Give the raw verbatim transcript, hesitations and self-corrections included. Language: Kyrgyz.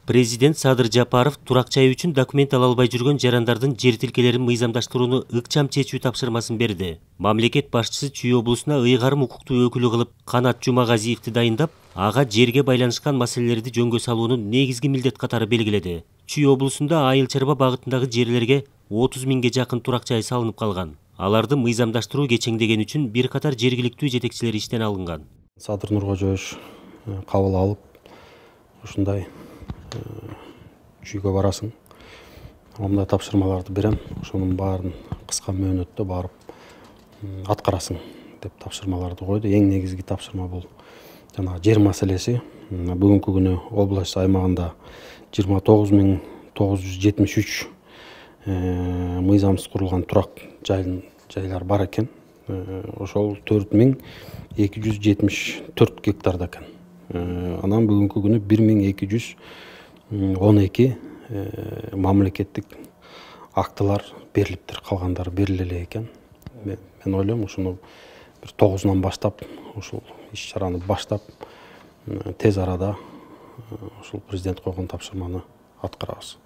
Президент Садыр Жапаров турак жай үчүн документ ала албай жүргөн жарандардын жер тилкелерин мыйзамдаштырууну ыкчам чечүү тапшырмасын берди. Мамлекет башчысы Чүй облусуна ыйгарым укуктуу өкүлү кылып Канат Жумагазиевди дайындап, ага жерге байланышкан маселелерди жөнгө салууну негизги милдет катары белгиледи. Чүй облусунда айыл чарба багытындагы жерлерге отуз миңге жакын турак жай салынып калган. Аларды мыйзамдаштыруу кечеңдеген үчүн бир катар жергиликтүү жетекчилер иштен алынган. Садыр Нуркожоевич кабыл алып, ушундай чүйгө барасың, мындай тапшырмаларды берем, ошонун баарын кыска мөөнөттө барып аткарасың деп тапшырмаларды койду. Эң негизги тапшырма бул жана жер маселеси. Бүгүнкү күнү область аймагында жыйырма тогуз миң тогуз жүз жетимиш үч мыйзамсыз курулган турак жайлар бар экен. Ошол төрт миң эки жүз жетимиш төрт гектарда экен. Анан бүгүнкү күнү бир миң эки жүз он эки мамлекеттик актылар берилиптир, калгандары бериле элек экен. Мен ойлойм, ушуну бир тогузунан баштап, ушул иш чараны баштап, тез арада ушул президент койгон тапшырманы аткарабыз.